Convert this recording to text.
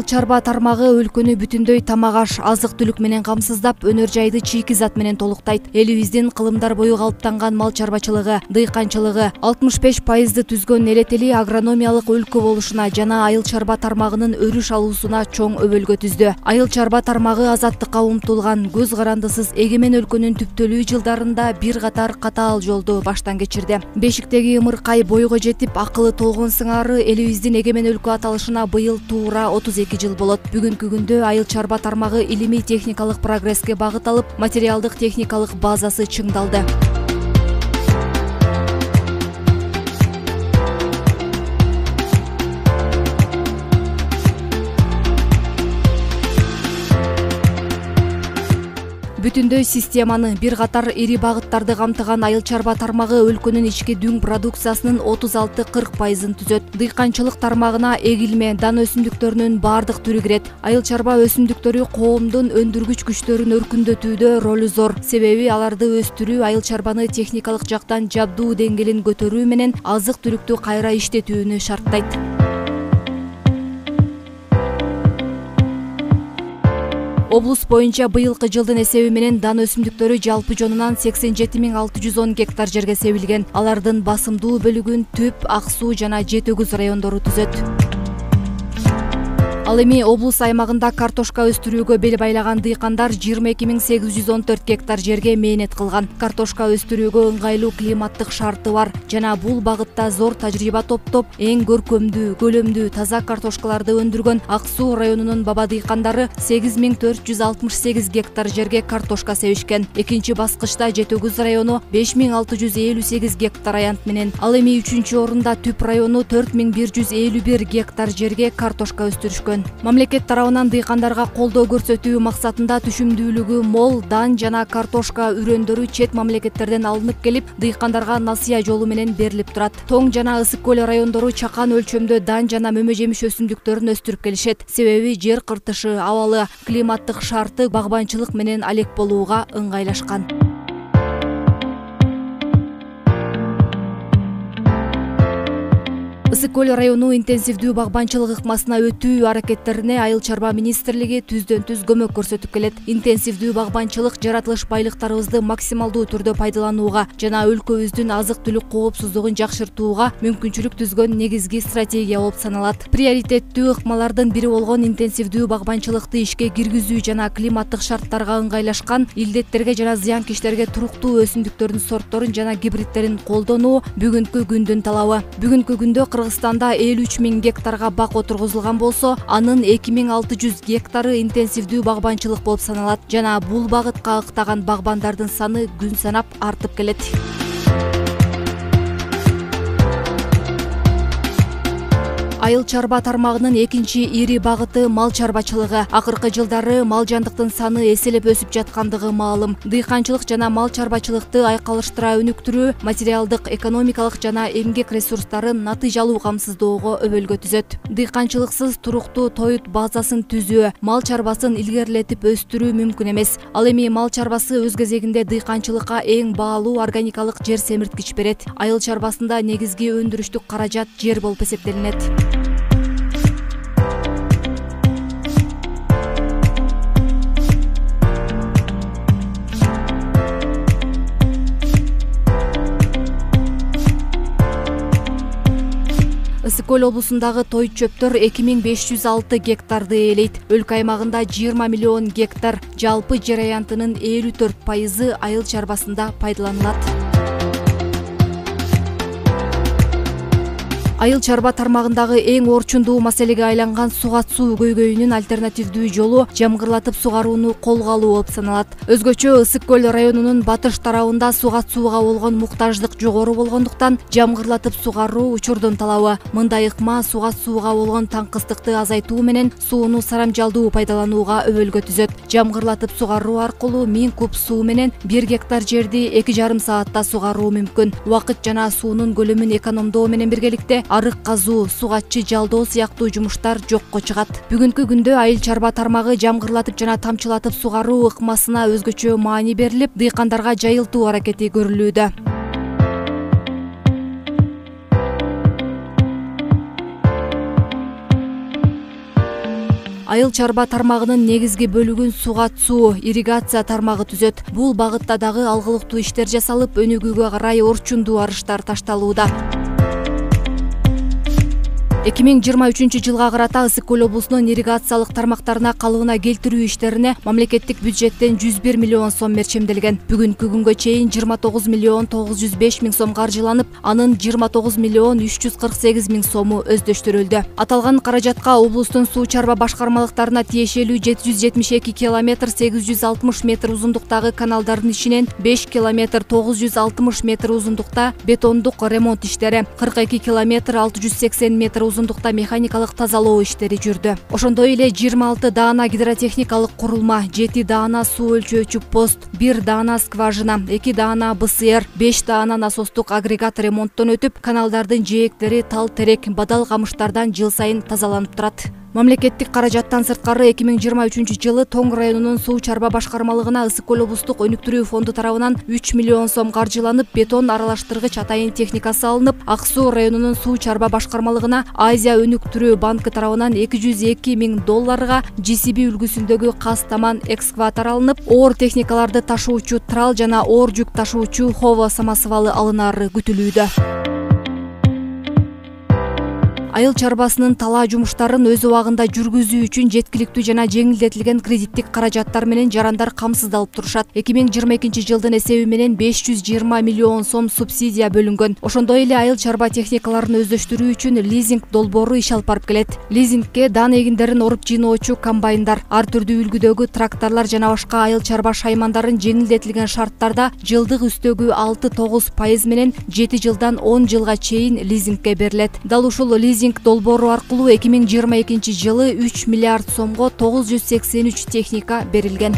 чарба тармагы өлкөнү бүтүндөй тамак-аш, азык-түлүк менен камсыздап, өнөр жайды чийки зат менен толуктайт. Элибиздин кылымдар бою калыптанган мал чарбачылыгы, дыйканчылыгы 65% түзгөн элетели агрономиялык өлкө болушуна жана айыл чарба тармагынын өрүш алуусуна чоң өбөлгө түздү. Айыл чарба тармагы азаттыкка умтулган, көз карандысыз эгемен өлкөнүн түптөлүү жылдарында бир катар катаал жолду баштан кечирди. Бешиктеги ымыркай бойго жетип, акылы толгон сыңары элибиздин эгемен өлкө аталышына быйыл туура 32 жыл болот. Бүгүнкү күндө айыл чарба тармагы илимий техникалык прогресске багыт алып, материалдык техникалык базасы чыңдалды. Бүтүндөй системаны бир катар ири багыттарды камтыган айыл чарба тармагы өлкөнүн ички дүң продукциясынын 36-40% түзөт. Дыйканчылык тармагына эгилме, дан өсүмдүктөрүнүн бардык түрү кирет. Айыл чарба өсүмдүктөрү коомдун өндүргүч күчтөрүн өркүндөтүүдө ролу зор. Себеби аларды өстүрүү айыл чарбаны техникалык жактан жабдуу деңгээлин көтөрүү менен азык-түлүктү кайра иштетүүнү шарттайт. Облус боюнча быйылкы жылдын эсеби менен дан өсүмдүктөрү жалпы жонунан 87 610 гектар жерге себилген. Алардын басымдуу бөлүгүн Түп, Ак Суу жана Жетөгүз райондору түзөт. Ал эми облус аймагында картошка өстүрүүгө бел байлаган дыйкандар 22 814 гектар жерге мээнет кылган. Картошка өстүрүүгө ыңгайлуу климаттык шарты бар жана бул багытта зор тажрыйба топтоп, эң көркөмдүү, көлөмдүү, таза картошкаларды өндүргөн Ак Суу районунун баба дыйкандары 8468 гектар жерге картошка себишкен. Экинчи баскычта Жетөгүз району 5658 гектар аянт менен, ал эми 3-чү орунда Түп району 4151 гектар жерге картошка өстүрүшкөн. Мамлекет тарабынан дыйкандарга колдоо көрсөтүү максатында түшүмдүүлүгү мол дан жана картошка үрөндөрү чет мамлекеттерден алынып келип, дыйкандарга насыя жолу менен берилип турат. Тоң жана Ысык көл райондору чакан өлчөмдө дан жана мөмө жемиш өсүмдүктөрүн өстүрүп келишет. Себеби жер кыртышы, абалы, климаттык шарты багбанчылык менен алек болууга ыңгайлашкан. Ысык көл району интенсивдүү багбанчылык ыкмасына өтүү аракеттерине айыл чарба министрлиги түздөн-түз көмөк көрсөтүп келет. Интенсивдүү багбанчылык жаратылыш байлыктарыбызды максималдуу түрдө пайдаланууга жана өлкөбүздүн азык-түлүк коопсуздугун жакшыртууга мүмкүнчүлүк түзгөн негизги стратегия болуп саналат. Приоритеттүү ыкмалардын бири болгон интенсивдүү багбанчылыкты ишке киргизүү жана климаттык шарттарга ыңгайлашкан, илдеттерге жана зыянкечтерге туруктуу өсүмдүктөрдүн сортторун жана гибридтерин колдонуу бүгүнкү күндүн талабы. Бүгүнкү күндө Кыргызстанда 53 000 гектарга бак отургузулган болсо, анын 2600 гектары интенсивдүү багбанчылык болуп саналат жана бул багытка ыктаган багбандардын саны күн санап артып келет. Айыл чарба тармагынын экинчи ири багыты мал чарбачылыгы. Акыркы жылдары мал жандыктын саны эселеп өсүп жаткандыгы маалым. Дыйканчылык жана мал чарбачылыкты айкалыштыра өнүктүрүү материалдык, экономикалык жана эмгек ресурстарын натыйжалуу камсыздоого өбөлгө түзөт. Дыйканчылыксыз туруктуу тоют базасын түзүү, мал чарбасын илгерилетип өстүрүү мүмкүн эмес. Ал эми мал чарбасы өз кезегинде дыйканчылыкка эң баалуу органикалык жер семирткич берет. Айыл чарбасында негизги өндүрүштүк каражат жер болуп эсептелинет. Ысык көл облусундагы той чөптөр 2506 гектарды ээлейт. Өлкө аймагында 20 миллион гектар, жалпы жер аянтынын 54% айыл чарбасында пайдаланылат. Айыл чарба тармагындагы эң орчундуу маселеге айланган сугат суу көйгөйүнүн альтернативдүү жолу жамгырлатып сугарууну колго алуу болуп саналат. Өзгөчө Ысык көл районунун батыш тарабында сугат сууга болгон муктаждык жогору болгондуктан жамгырлатып сугаруу учурдун талабы. Мындай ыкма сугат сууга болгон таңкыстыкты азайтуу менен сууну сарамжалдуу пайдаланууга өбөлгө түзөт. Жамгырлатып сугаруу аркылуу 1000 куб суу менен 1 гектар жерди 2,5 саатта сугаруу мүмкүн. Убакыт жана суунун көлөмүн экономдоо менен биргеликте арык казуу, сугатчы жалдоо сыяктуу жумуштар жокко чыгат. Бүгүнкү күндө айыл чарба тармагы жамгырлатып жана тамчылатып сугаруу ыкмасына өзгөчө маани берилип, дыйкандарга жайылтуу аракети көрүлүүдө. Айыл чарба тармагынын негизги бөлүгүн сугат-суу, ирригация тармагы түзөт. Бул багытта дагы алгылыктуу иштер жасалып, өнүгүүгө карай орчундуу арыштар ташталууда. 2023-жылга карата Ысык көл облусунун ирригациялык тармактарына калыбына келтирүү иштерине мамлекеттик бюджеттен 101 миллион сом мерчемделген. Бүгүнкү күнгө чейин 29 миллион 905 миң сом каржыланып, анын 29 миллион 348 миң сому өздөштүрүлдү. Аталган каражатка облустун суу чарба башкармалыктарына тиешелүү 772 километр 860 метр узундуктагы каналдардын ичинен 5 километр 960 метр узундукта бетондук ремонт иштери, 42 километр 680 метр узундукта механикалык тазалоо иштери жүрдү. Ошондой эле 26 даана гидротехникалык курулма, 7 даана суу өлчөөчү пост, 1 даана скважина, 2 даана БСР, 5 даана насостук агрегат ремонттон өтүп, каналдардын жээктери тал терек, бадал камыштардан жыл сайын тазаланып турат. Мамлекеттик каражаттан сырткары 2023-жылы Тоң районунун суу чарба башкармалыгына Ысык көл облустук өнүктүрүү фонду тарабынан 3 миллион сом каржыланып, бетон аралаштыргыч атайын техникасы алынып, Ак суу районунун суу чарба башкармалыгына Азия өнүктүрүү банкы тарабынан 202 миң долларга JCB үлгүсүндөгү каз таман экскаватор алынып, оор техникаларды ташуучу трал жана оор жүк ташуучу хово самосвалы алынары күтүлүүдө. Айыл чарбасынын талаа жумуштарын өз убагында жүргүзүү үчүн жеткиликтүү жана жеңилдетилген кредиттик каражаттар менен жарандар камсыздалып турушат. 2022-жылдын эсеби менен 520 миллион сом субсидия бөлүнгөн. Ошондой эле айыл чарба техникаларын өздөштүрүү үчүн лизинг долбоору иш алып барып келет. Лизингке дан эгиндерин оруп жыйноочу комбайндар, ар түрдүү үлгүдөгү тракторлор жана башка айыл чарба шаймандарын жеңилдетилген шарттарда жылдык үстөгү 6-9% менен 7 жылдан 10 жылга чейин лизингке берилет. Дал ушул лизинг долбоору аркылуу 2022-жылы 3 миллиард сомго 983 техника берилген.